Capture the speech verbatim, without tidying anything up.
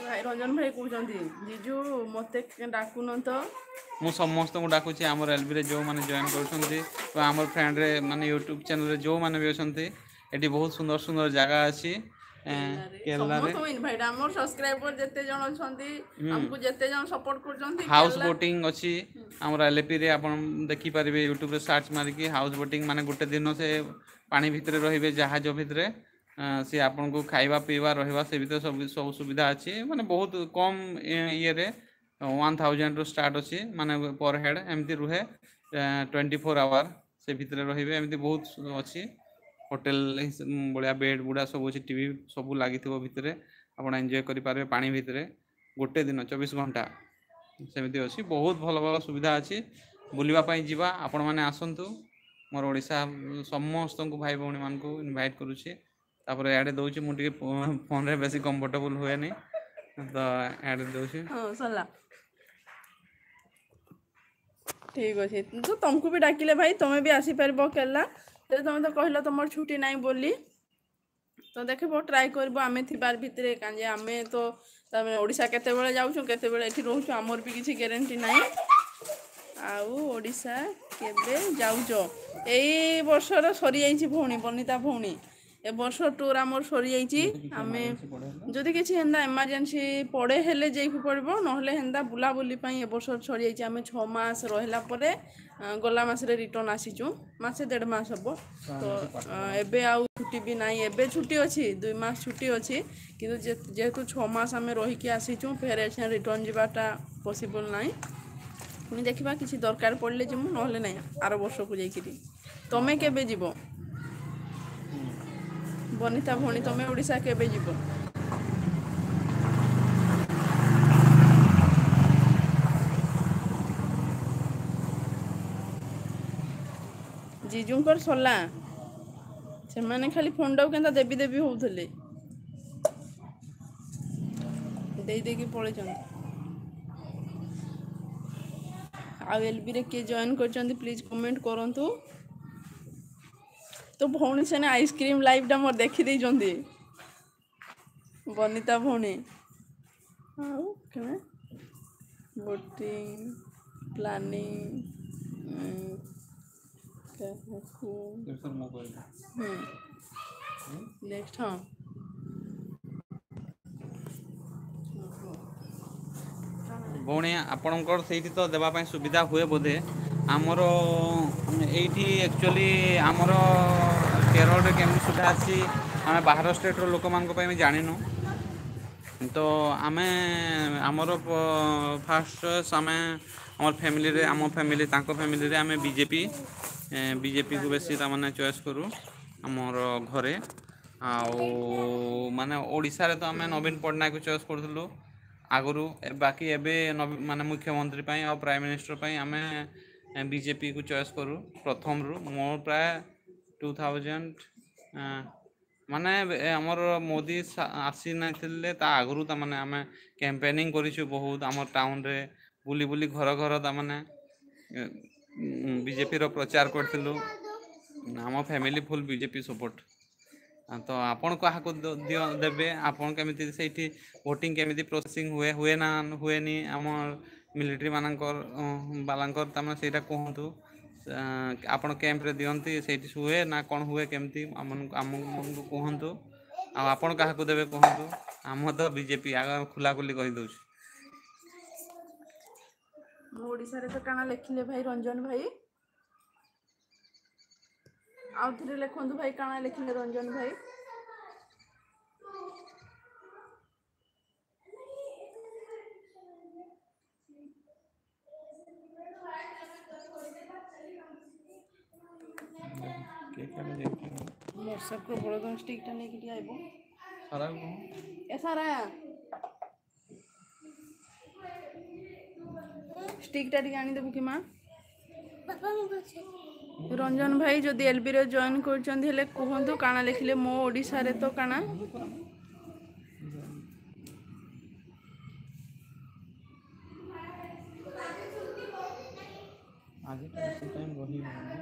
ଭାଇ ରଞ୍ଜନ ଭାଇ କହୁଛନ୍ତି, ଜିଜୁ ମୋତେ ଡାକୁନ ତ। ମୁଁ ସମସ୍ତଙ୍କୁ ଡାକୁଛି। ଆମର ଏଲବିରେ ଯେଉଁମାନେ ଜଏନ୍ କରୁଛନ୍ତି ବା ଆମର ଫ୍ରେଣ୍ଡରେ ମାନେ ୟୁଟ୍ୟୁବ୍ ଚ୍ୟାନେଲରେ ଯେଉଁମାନେ ବି ଅଛନ୍ତି, ଏଠି ବହୁତ ସୁନ୍ଦର ସୁନ୍ଦର ଜାଗା ଅଛି କେରଳାରେ। ସମସ୍ତଙ୍କୁ ଇନଭାଇଟ୍। ଆମର ସବସ୍କ୍ରାଇବର ଯେତେ ଜଣ ଅଛନ୍ତି, ଆମକୁ ଯେତେ ଜଣ ସପୋର୍ଟ କରୁଛନ୍ତି। ହାଉସ୍ ବୋଟିଂ ଅଛି ଆମର ଏଲ୍ଏପିରେ। ଆପଣ ଦେଖିପାରିବେ ୟୁଟ୍ୟୁବରେ ସର୍ଚ୍ଚ ମାରିକି ହାଉସ୍ ବୋଟିଂ, ମାନେ ଗୋଟେ ଦିନ ସେ ପାଣି ଭିତରେ ରହିବେ, ଜାହାଜ ଭିତରେ। ସେ ଆପଣଙ୍କୁ ଖାଇବା ପିଇବା ରହିବା ସେ ଭିତରେ ସବୁ ସବୁ ସୁବିଧା ଅଛି। ମାନେ ବହୁତ କମ୍ ଇଏରେ, ୱାନ୍ ଥାଉଜେଣ୍ଡରୁ ଷ୍ଟାର୍ଟ ଅଛି, ମାନେ ପର୍ ହେଡ଼୍ ଏମିତି ରୁହେ। ଟ୍ୱେଣ୍ଟି ଫୋର୍ ଆୱାର ସେ ଭିତରେ ରହିବେ। ଏମିତି ବହୁତ ଅଛି, ହୋଟେଲ ଭଳିଆ ବେଡ଼୍ ଗୁଡ଼ା ସବୁ ଅଛି, ଟିଭି ସବୁ ଲାଗିଥିବ ଭିତରେ। ଆପଣ ଏନ୍ଜୟ କରିପାରିବେ ପାଣି ଭିତରେ ଗୋଟେ ଦିନ, ଚବିଶ ଘଣ୍ଟା ସେମିତି ଅଛି। ବହୁତ ଭଲ ଭଲ ସୁବିଧା ଅଛି। ବୁଲିବା ପାଇଁ ଯିବା, ଆପଣମାନେ ଆସନ୍ତୁ। ମୋର ଓଡ଼ିଶା ସମସ୍ତଙ୍କୁ ଭାଇ ଭଉଣୀମାନଙ୍କୁ ଇନଭାଇଟ୍ କରୁଛି। ତାପରେ ଇଆଡ଼େ ଦେଉଛି, ମୁଁ ଟିକେ ଫୋନ୍ରେ ବେଶୀ କମ୍ଫର୍ଟେବୁଲ୍ ହୁଏନି ତ ଇଆଡ଼େ ଦେଉଛି। ହଁ, ସରିଲା। ଠିକ ଅଛି ତ, ତମକୁ ବି ଡାକିଲେ ଭାଇ ତମେ ବି ଆସିପାରିବ କେରଲା। ହେଲେ ତମେ ତ କହିଲ ତମର ଛୁଟି ନାହିଁ ବୋଲି। ତ ଦେଖିବ, ଟ୍ରାଏ କରିବ ଆମେ ଥିବାର ଭିତରେ, କାହିଁକି ଆମେ ତ ତାମାନେ ଓଡ଼ିଶା କେତେବେଳେ ଯାଉଛୁ, କେତେବେଳେ ଏଠି ରହୁଛୁ, ଆମର ବି କିଛି ଗ୍ୟାରେଣ୍ଟି ନାହିଁ। ଆଉ ଓଡ଼ିଶା କେବେ ଯାଉଛ? ଏଇ ବର୍ଷର ସରିଯାଇଛି ଭଉଣୀ, ବନିତା ଭଉଣୀ। ଏ ବର୍ଷ ଟୁର୍ ଆମର ସରିଯାଇଛି। ଆମେ ଯଦି କିଛି ହେନ୍ତା ଏମର୍ଜେନ୍ସି ପଡ଼େ ହେଲେ ଯାଇକି ପଡ଼ିବ, ନହେଲେ ହେନ୍ତା ବୁଲାବୁଲି ପାଇଁ ଏ ବର୍ଷ ସରିଯାଇଛି। ଆମେ ଛଅ ମାସ ରହିଲା ପରେ ଗଲା ମାସରେ ରିଟର୍ନ ଆସିଛୁ, ମାସେ ଦେଢ଼ ମାସ ହେବ ତ। ଏବେ ଆଉ ଛୁଟି ବି ନାହିଁ। ଏବେ ଛୁଟି ଅଛି, ଦୁଇ ମାସ ଛୁଟି ଅଛି, କିନ୍ତୁ ଯେହେତୁ ଛଅ ମାସ ଆମେ ରହିକି ଆସିଛୁ, ଫେର ଏସେ ରିଟର୍ନ ଯିବାଟା ପସିବଲ୍ ନାହିଁ। ପୁଣି ଦେଖିବା, କିଛି ଦରକାର ପଡ଼ିଲେ ଯିବୁ, ନହେଲେ ନାହିଁ ଆର ବର୍ଷକୁ ଯାଇକିରି। ତମେ କେବେ ଯିବ ବନିତା ଭଉଣୀ? ତମେ ଓଡ଼ିଶା କେବେ ଯିବ? ଜିଜୁଙ୍କର ସରିଲା। ସେମାନେ ଖାଲି ଫୋନଟାକୁ କେନ୍ତା ଦେବି ଦେବି ହଉଥିଲେ, ଦେଇ ଦେଇକି ପଳେଇଛନ୍ତି। ଆଉ ଏଲବିରେ କିଏ ଜଏନ୍ କରିଛନ୍ତି, ପ୍ଲିଜ୍ କମେଣ୍ଟ କରନ୍ତୁ। ତ ଭଉଣୀ ସେନେ ଆଇସ୍କ୍ରିମ୍ ଲାଇଭ୍ଟା ମୋର ଦେଖିଦେଇଛନ୍ତି ବନିତା ଭଉଣୀ। ଆଉ କେବେ ବୋଟିଂ ପ୍ଲାନିଂ କାହାକୁ ନେକ୍ସଟ? ହଁ ଭଉଣୀ, ଆପଣଙ୍କର ସେଇଠି ତ ଦେବା ପାଇଁ ସୁବିଧା ହୁଏ ବୋଧେ। ଆମର ଏଇଠି ଆକ୍ଚୁଆଲି ଆମର କେରଳରେ କେମିତି ସୁବିଧା ଅଛି, ଆମେ ବାହାର ଷ୍ଟେଟ୍ର ଲୋକମାନଙ୍କ ପାଇଁ ବି ଜାଣିନୁ। ତ ଆମେ ଆମର ଫାଷ୍ଟ ଚଏସ୍, ଆମେ ଆମର ଫ୍ୟାମିଲିରେ, ଆମ ଫ୍ୟାମିଲି ତାଙ୍କ ଫ୍ୟାମିଲିରେ ଆମେ ବିଜେପି, ବିଜେପିକୁ ବେଶୀ ତାମାନେ ଚଏସ୍ କରୁ ଆମର ଘରେ। ଆଉ ମାନେ ଓଡ଼ିଶାରେ ତ ଆମେ ନବୀନ ପଟ୍ଟନାୟକକୁ ଚଏସ୍ କରୁଥିଲୁ ଆଗରୁ। ବାକି ଏବେ ମାନେ ମୁଖ୍ୟମନ୍ତ୍ରୀ ପାଇଁ ଆଉ ପ୍ରାଇମ୍ ମିନିଷ୍ଟର ପାଇଁ ଆମେ ବିଜେପିକୁ ଚଏସ୍ କରୁ ପ୍ରଥମରୁ। ମୋର ପ୍ରାୟ ଟୁ ଥାଉଜେଣ୍ଡ ମାନେ ଆମର ମୋଦି ଆସିନଥିଲେ, ତା ଆଗରୁ ତାମାନେ ଆମେ କ୍ୟାମ୍ପେନିଂ କରିଛୁ ବହୁତ। ଆମ ଟାଉନରେ ବୁଲି ବୁଲି ଘର ଘର ତାମାନେ ବିଜେପିର ପ୍ରଚାର କରିଥିଲୁ। ଆମ ଫ୍ୟାମିଲି ଫୁଲ୍ ବିଜେପି ସପୋର୍ଟ। ତ ଆପଣ କାହାକୁ ଦିଅ ଦେବେ? ଆପଣ କେମିତି ସେଇଠି ଭୋଟିଂ କେମିତି ପ୍ରୋସେସିଂ ହୁଏ, ହୁଏ ନା ହୁଏନି ଆମ ମିଲିଟାରୀ ମାନଙ୍କର ବାଲାଙ୍କର, ତାମାନେ ସେଇଟା କୁହନ୍ତୁ। ଆପଣ କ୍ୟାମ୍ପରେ ଦିଅନ୍ତି, ସେଇଠି ହୁଏ ନା କ'ଣ ହୁଏ କେମିତି, ଆମକୁ କୁହନ୍ତୁ। ଆଉ ଆପଣ କାହାକୁ ଦେବେ କୁହନ୍ତୁ। ଆମ ତ ବିଜେପି, ଆଗ ଖୋଲାଖୋଲି କହିଦେଉଛୁ। ମୁଁ ଓଡ଼ିଶାରେ ତ କାଣା ଲେଖିଲେ ଭାଇ ରଞ୍ଜନ ଭାଇ? ଆଉ ଥରେ ଲେଖନ୍ତୁ ଭାଇ, କାଣା ଲେଖିଲେ ରଞ୍ଜନ ଭାଇ? ବର୍ଷା ପ୍ରବଳ। ତମ ଷ୍ଟିକ୍ଟା ନେଇକି ଟିକେ ଆଇବ। ଏ ସାରା, ଷ୍ଟିକ୍ଟା ଟିକେ ଆଣିଦେବୁ କି ମା? ରଞ୍ଜନ ଭାଇ ଯଦି ଏଲବିରେ ଜଏନ୍ କରିଛନ୍ତି ହେଲେ କୁହନ୍ତୁ, କାଣା ଲେଖିଲେ ମୋ ଓଡ଼ିଶାରେ ତ କାଣା? ଆଜି ତ ବେଶୀ ଟାଇମ୍ ରହିବନି।